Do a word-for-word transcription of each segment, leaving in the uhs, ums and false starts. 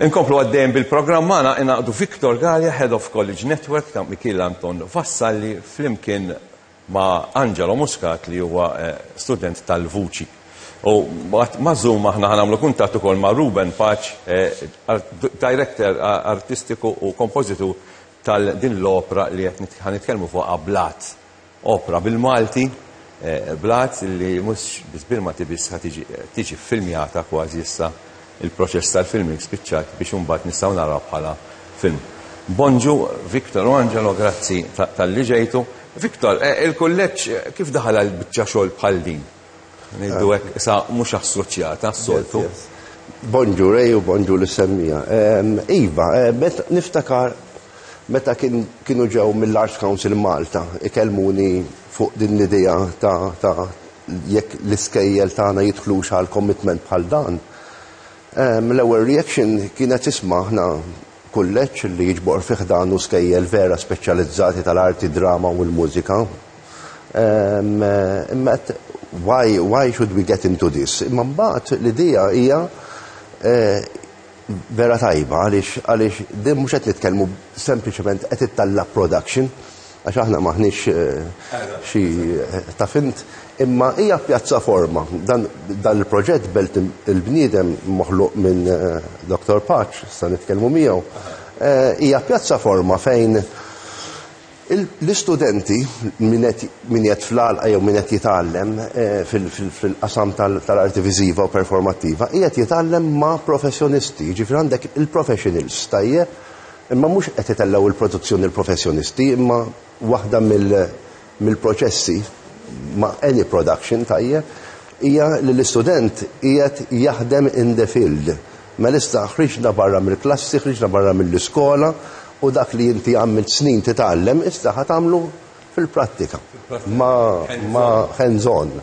Inkomplu għaddejjem bil-programm magħna ingħaqdu Victor Galea, Head of College Network ta' Mikiel Anton Vassalli, flimkien ma' Angelo Muscat, li huwa eh, student tal-vuċi. U ma' Zoom aħna ħa nagħmlu kuntatt ukoll ma' Ruben Pace, eh, director artistiku u kompożitur tal-din l-opera li qed ħa nitkellmu fuq, Blat. Opera bil-Malti, eh, Blat, li mhux biss bil-Malti biss, ħa tiġi filmjata kważi issa, il-proċess tal-filming spiċċat, biex imbagħad nistgħu naraw bħala film. Bonġu, Victor u Angelo, grazzi talli ġejtu. Victor, eh, il-kulleġġ kif daħal għal biċċa xogħol bħal din? Ngħidu hekk sa mhux assoċjata s-soltu. Bonġu Rej u bonġu lis-semmiegħa. Iva, eh, niftakar meta kienu ġew mill-Arts Council Malta ikellmuni fuq din l-idea ta' ta' jekk l-iskejjel tagħna jidħlux għal commitment bħal dan. L-ewwel reaction kienet, isma', aħna kulleġġ li jiġbor fih dan u skejjel vera speċjalizzati tal-arti, drama u l-mużika. Imma why, why should we get into this? Imma mbagħad l-idea hija eh, vera tajba, għaliex għaliex din mhux qed nitkellmu sempliċement qed ittella' production, għax aħna maħniex eh, xi eh, taf int, imma hija pjattaforma. Dan, dan il-proġett Belt il-Bniedem, moħluq minn eh, Doctor Pace, sa nitkellmu miegħu, hija pjattaforma fejn l-istudenti, min qed fl-għalqa jew min qed jitgħallem fil-qasam tal-arti viżiva u performattiva, qiegħed jitgħallem ma' professjonisti, ġifieri għandek il-professionals, tajjeb, imma mhux qed itellgħu il-produzzjoni il-professjonisti, imma waħda mill-proċessi ma' any production, tajjeb, hija li l-istudent qiegħed jaħdem in the field. Mela issa ħriġna barra mill-klassi, ħriġna barra mill-iskola, u dak li inti għamilt snin titgħallem, issa ħa tagħmlu fil-prattika. Ma, ma hands-on.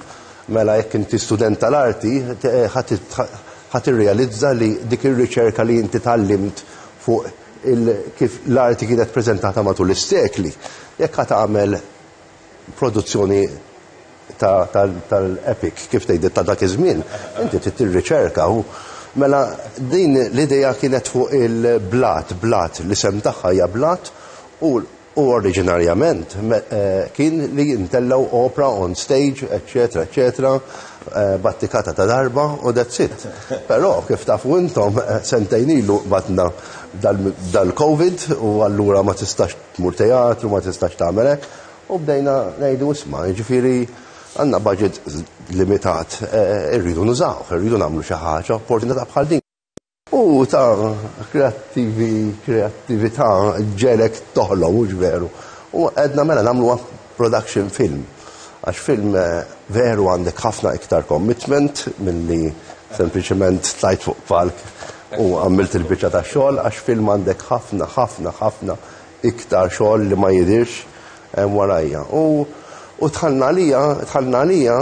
Mela jekk inti student tal-arti, ħa tirrealizza li dik ir-riċerka li inti tgħallimt fuq kif l-arti kienet prezentata matul is-sekli, jekk ħa tagħmel produzzjoni tal-epic, kif tgħid, ta' dak iż-żmien, inti trid tirriċerka u mela din l-idea kienet fuq il-Blat. Blat, l-isem tagħha hija Blat, u u oriġinarjament eh, kien li jintellgħu opera on stage, eccetera, eccetera, eh, battikata ta' darba u that's it. Però kif tafu intom, eh, sentejn ilu batna dal-Covid u allura ma tistax tmur teatru, ma tistax tagħmel hekk, u bdejna ngħidu, isma', jiġifieri għandna budget limitat, irridu nużaw, irridu nagħmlu xi ħaġa, opportunità bħal din. U ta' kreattivi, kreattività ġelek toħlom, mhux veru? U għedna mela nagħmlu production film. Għax film eh, veru għandek ħafna iktar commitment milli sempliċement tlajt fuq palk u għamilt il-biċċa ta' xogħol, għax film għandek ħafna, ħafna, ħafna iktar xogħol li ma jidirx eh, warajja. U U dħalna għalija, dħalna għalija,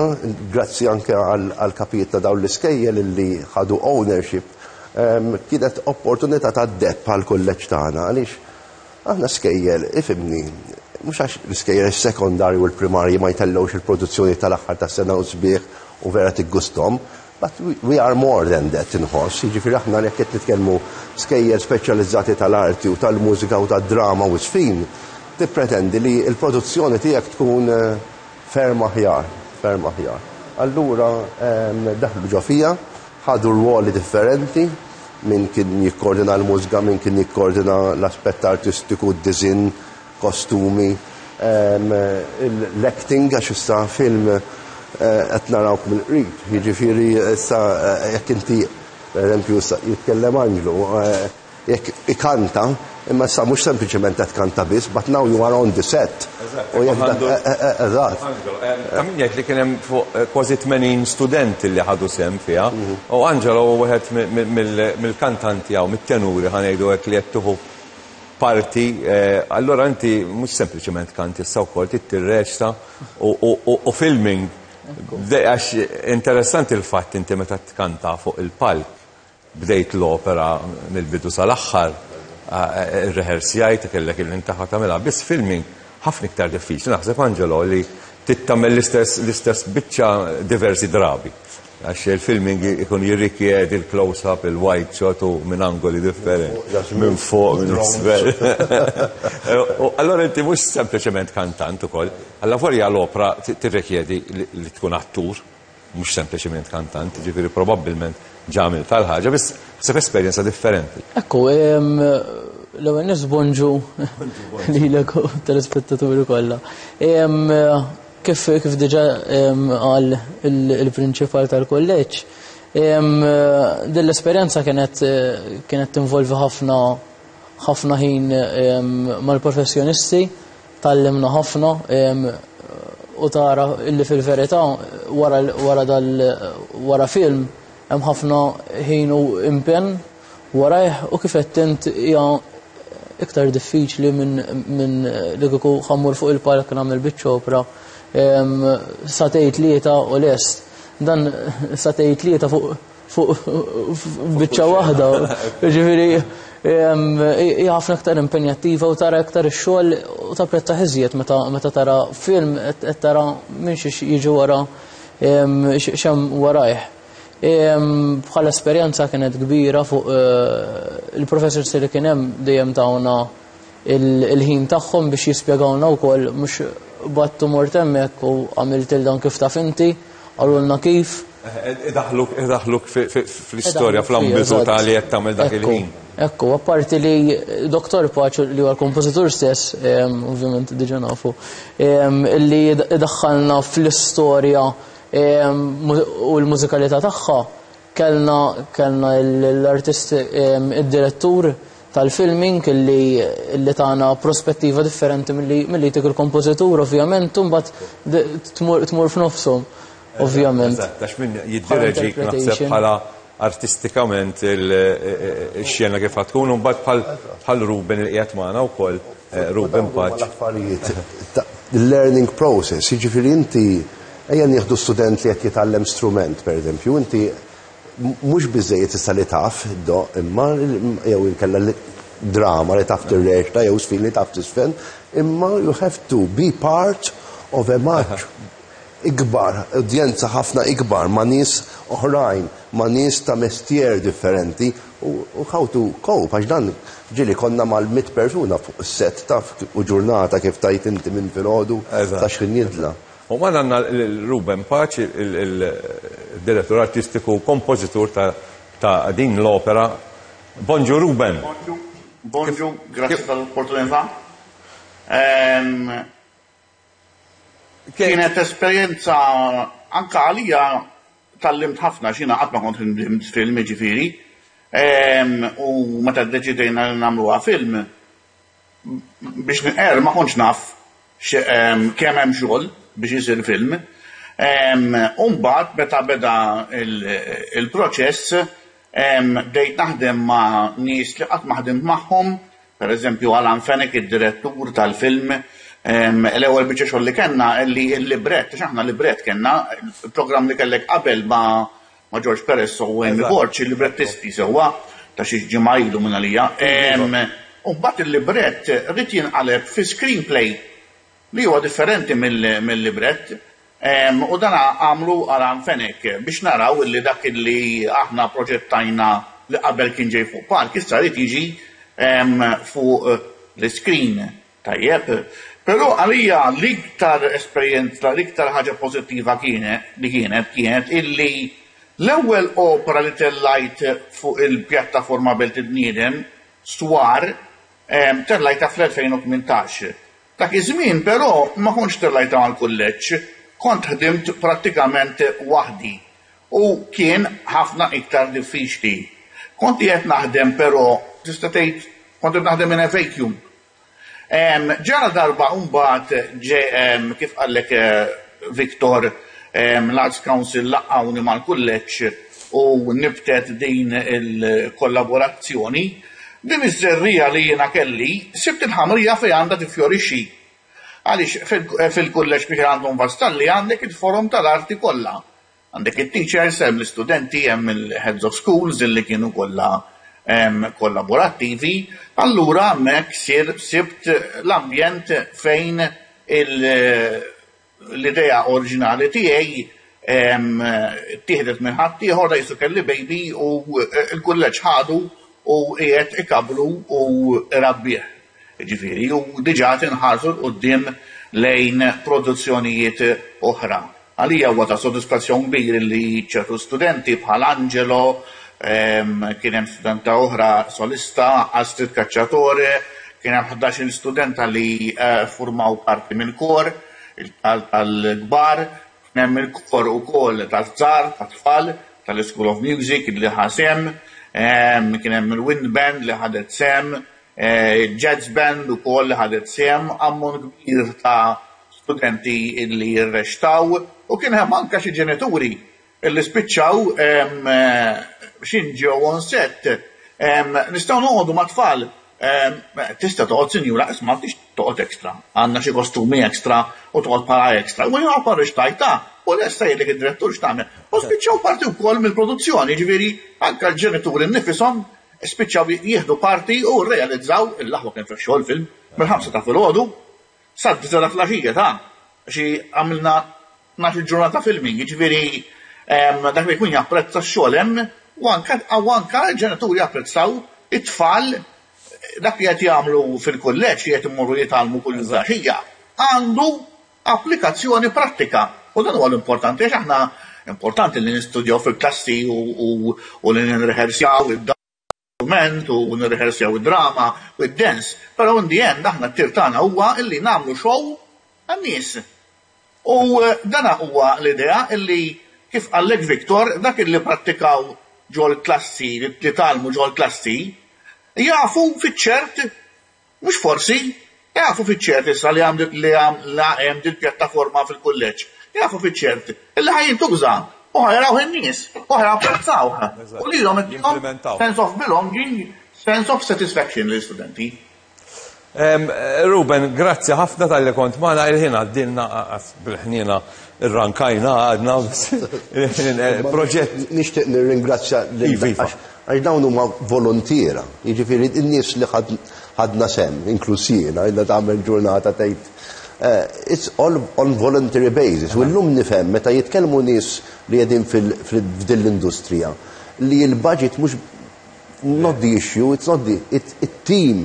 grazzi anke għal-kapijiet ta' dawn l-iskejjel li ħadu ownership, kienet opportunità ta' deheb għal kulleġġ tagħna, għaliex aħna skejjel, ifhimni, mhux għax l-iskejjel sekondarju u l-primarji ma jtellgħux il-produzzjoni tal-aħħar tas-sena u sbieħ u vera tiggustom, but we are more than that, inħoss. Jiġifieri aħna jekk qed nitkellmu skejjel speċjalizzati tal-arti u tal-mużika u tad-drama u żfin, tippretendi li l-produzzjoni tiegħek tkun eh, ferm aħjar, ferm aħjar. Allura daħlu ġo fija, ħadu rwoli differenti, min kien jikkoordina l-mużika, min kien jikkoordina l-aspett artistiku, d-design, kostumi, l-acting, għax issa film eh, qed narawk mill-qrib. Jiġifieri issa eh, jekk inti, per eżempju, jitkellem Angelo, eh, jekk ikanta, imma issa mhux sempliċement qed kanta biss, but now you are on the set. U jekk eżatt. Ta' min jgħid li kien hemm fuq kważi tmenin studenti li ħadu sehem fiha. U Angelo wieħed mill-kantanti jew mit-tenuri, ħa ngħidu hekk, li qed tieħu parti, allora inti mhux sempliċement kanti, issa wkoll tirreċta u filming. Għax interessanti il-fatt inti meta tkanta fuq il-palk, bdejt l-opera mill-bidu sal-aħħar, ir-rehearsjajt, kellek il-intaħa tagħmilha, biss filming ħafna iktar diffiċli. Naħseb, Angelo, li trid tagħmel l-istess l-istess biċċa diversi drabi. Għax il-filming ikun jirrikjedi il-close-up, il-wide shot u minn angoli differenti. Minn fuq, minn isfel. U allora inti mhux sempliċement kantant ukoll, allavolja l-opra tirrikjedi li tkun attur, mhux sempliċement kantant, ġifieri probabbilment ġamil tal-ħaġa, biss sef esperjenza differenti. Ekku, l-ewwel nies bonġu lilek u telespettaturi kollha. Kif kif diġà qal il-prinċipal tal-kolleġġ, din l-esperjenza kienet kienet tinvolvi ħafna ħafna ħin mal-professjonisti, tgħallimna ħafna u tara illi fil-verità wara wara dal wara film hemm ħafna ħin u impenn warajh u kif qed int hija iktar diffiċli minn min li kieku ħa mmur fuq il-palk nagħmel biċċa opra sagħtejn tlieta u lest. Dan sagħtejn tlieta fuq fuq biċċa waħda. Ġifieri hija ħafna iktar impenjattiva u tara iktar ix-xogħol u tapprezza iżjed meta meta tara film qed tara minn xiex jiġi wara x'hemm warajh. Bħala esperjenza kienet kbira fuq il-professors li kien hemm dejjem tawna il-ħin tagħhom biex jispjegawna wkoll, mhux battu mort hemmhekk u għamilt il dan kif taf inti, qalulna kif. Idaħluk idaħluk fl-istorja, fl-ambitu ta' li qed tagħmel dak il-ħin. Ekku, apparti li Doktor Pace, li huwa l-kompożitur stess, ovvjament diġà nafu, li idaħħalna fl-istorja u l-mużikalità tagħha, kellna kellna l-artist, id-direttur tal-filming li li tana prospettiva differenti milli tik il-kompożitur, ovvjament, u mbagħad tmur tmur f'nofshom, ovvjament. Eżatt, għax min jiddireġik naħseb bħala artistikament il-xena kif tkun, u mbagħad bħal bħal Ruben il qiegħed magħna wkoll, Ruben Pace. L-affarijiet, learning process, jiġifieri inti ejja nieħdu student li qed jitgħallem strument, per eżempju, inti mhux biżejjed issa li taf do imma jew inkella drama li taf tirreċta jew sfin li taf tisfen, imma you have to be part of a much ikbar, udjenza ħafna ikbar, ma' nies oħrajn, ma' nies ta' mestier differenti u u how to cope, għax dan ġieli konna mal-mitt persuna fuq set taf u ġurnata kif tajt inti minn filgħodu Eżatt. ta' xħin jidla. U ma għandna l-Ruben Pace, il-direttur artistiku, kompożitur ta' ta' din l-opera. Bonġu, Ruben. Bonġu, bonġu, grazie tal-opportunità. Ehm, Kienet esperjenza anka għalija, tgħallimt ħafna xina qatt ma kont ħdimt film, ġifieri. Ehm, U meta ddeċidejna li nagħmluha film, biex nqer ma kontx naf xe- ehm, kemm hemm xogħol biex isir film. Ehm, U mbagħad meta beda il- il-proċess ehm, bdejt naħdem ma' nies li qatt ma ħdimt magħhom, per eżempju Alan Fenech, id-direttur tal-film, ehm, l-ewwel biċċa xogħol li kellna li l-librett, għax aħna librett kellna, il-programm li kellek qabel ma' ma' George Perez u Amy Eżatt. Borg, il-librettisti sewwa ta' xi ġimgħa ilu minn għalija. Ehm, U mbagħad il-librett ried jinqaleb fi screenplay li huwa differenti mill- mill-librett. Em, U dan għamlu Alan Fenech biex naraw illi dak illi aħna proġettajna li qabel kien ġej fuq palk, issa jrid jiġi em, fuq eh, l-screen. Tajjeb. Però għalija l-iktar esperjenza, l-iktar ħaġa pożittiva kienet li kienet kienet illi l-ewwel opera li tellajt fuq il-pjattaforma Belt il-Bniedem, Swar, em, tellajta fl-elfejn u tmintax. Dak iż-żmien però ma kontx tellajta mal-kulleġġ, kont ħdimt prattikament waħdi u kien ħafna iktar diffiċli. Kont qed naħdem, però tista' tgħid kont qed naħdem in a vacuum. Em, Ġara darba mbagħad ġe em, kif qallek eh, Victor, em, l-Arts Council laqqawni mal-kulleġġ u nibtet din il-kollaborazzjoni. Din iż-żerriegħa li jiena kelli, sibt il-ħamrija fejn għandha tifjorixxi. Għaliex fil- fil-kulleġġ biex għandhom Vassalli għandek il-forum tal-arti kollha. Għandek il-teachers, hemm l-istudenti, hemm il-heads of schools illi kienu kollha em, kollaborattivi. Allura hemmhekk sir sibt l-ambjent fejn il- l-idea oriġinali tiegħi Tieħdet minn ħadd ieħor, da jisu kelli baby u l-kulleġġ ħadu u qiegħed ikabbru u rabbih. Ġifieri, u diġà tinħarsu 'l quddiem lejn produzzjonijiet oħra. Għalija huwa ta' sodisfazzjon kbir li ċertu studenti bħal Angelo, kien hemm studenta oħra solista, Astrid Cacciatore, kien hemm ħdax-il studenta li formaw parti mill-kor tal-kbar, kien hemm il-kor ukoll taż-żgħar, tat-tfal, tal-School of Music li ħa sehem, kien hemm il-Wind Band li ħadet sehem, jazz band ukoll li ħadet sehem, ammont kbir ta' studenti li jirreċtaw, u kien hemm anke xi ġenituri li spiċċaw x'ħin ġew on set. Nistgħu noqogħdu ma' tfal, tista' toqgħod, sinjura, isma', tix toqgħod extra, għandna xi kostumi extra u toqgħod bħala extra. U jien rreċtajta u lesta jgħidlek id-direttur x'tagħmel. U spiċċaw parti wkoll mill-produzzjoni, ġifieri anke l-ġenituri nifishom spiċċaw jieħdu parti u realizzaw il-laħwa kien fix-xogħol film mill-ħamsa ta' filgħodu sad-disgħa ta' filgħaxija, ta' xi għamilna tnax-il ġurnata filming, jiġifieri dak li jkun japprezza x-xogħol hemm u anke u anke l-ġenituri japprezzaw it-tfal dak li qed jagħmlu fil-kulleġġ, li qed imorru jitgħallmu kull filgħaxija, għandu applikazzjoni prattika. U dan huwa l-importanti, għax aħna importanti li nistudjaw fil-klassi u li nirrehearsjaw id-dokument u nirrehearsjaw id-drama u id-dance, però in the end aħna t-tir tagħna huwa illi nagħmlu show għan-nies. U dana huwa l-idea illi, kif qallek Victor, dak illi prattikaw ġol klassi, li tgħallmu ġol klassi, jafu fiċ-ċert, mhux forsi, jafu fiċ-ċert issa li għam li għam la hemm din pjattaforma fil-kulleġġ. Jafu fiċ-ċert illi ħa jintuża u ħa jaraw in-nies u ħa japprezzaw. U lilhom Jimplementaw. sense of belonging, sense of satisfaction l-istudenti. Ruben, grazzi ħafna talli kont magħna. Il-ħin għaddilna bil-ħnina, irrankajna għadna proġett. Nixtieq nirringrazzja lil Iva, iva. għax għax dawn huma volontiera, jiġifieri n-nies li ħad- ħadna sehem, inkluż jiena, illa tagħmel ġurnata tgħid. eh, It's all on voluntary basis. U llum nifhem meta jitkellmu nies li qegħdin fil- fil- f'din l-industrija li l-budget mhux not the issue, it's not the it, it team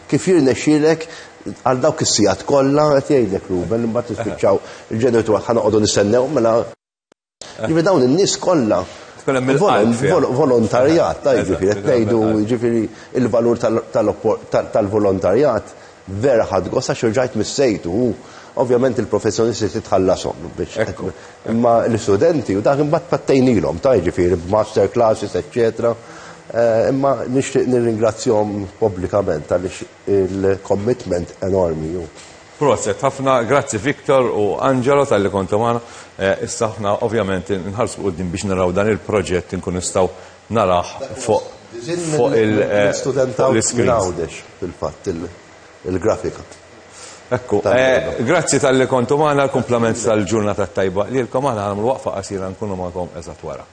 kif jirnexxielek għal dawk is-sigħat kollha qed jgħidlek Ruben, imbagħad tispiċċaw il-ġenitur ħa noqogħdu nistennew mela. Ġifieri dawn in-nies kollha Tkun hemm il-qalb fiha. vol- volontarjat, ta' Eżatt, ġifieri qed ngħidu, ġifieri il-valur tal- tal- tal- tal-volontarjat vera ħadt gost għax rġajt missejtu u ovvjament il-professjonisti titħallasom biex Ekku. imma l-istudenti u dak imbagħad pattejnilhom, ta' ġifieri b'master classes, eccetera. Eh, Imma nixtieq nirringrazzjahom pubblikament għaliex il-commitment enormi ju. Prosit, ħafna grazzi, Victor u Angelo, talli kontu magħna. Eh, Issa aħna ovvjament nħarsu quddiem biex naraw dan il-proġett, nkun nistgħu narah fuq fuq il- eh, Student fuq l-screens. Għawdex fil-fatt il- il-grafika. Ekku, Tal- eh, grazzi talli kontu magħna, l-kumplament tal-ġurnata tajba. Lilkom aħna nagħmlu waqfa qasira, nkunu magħkom eżatt wara.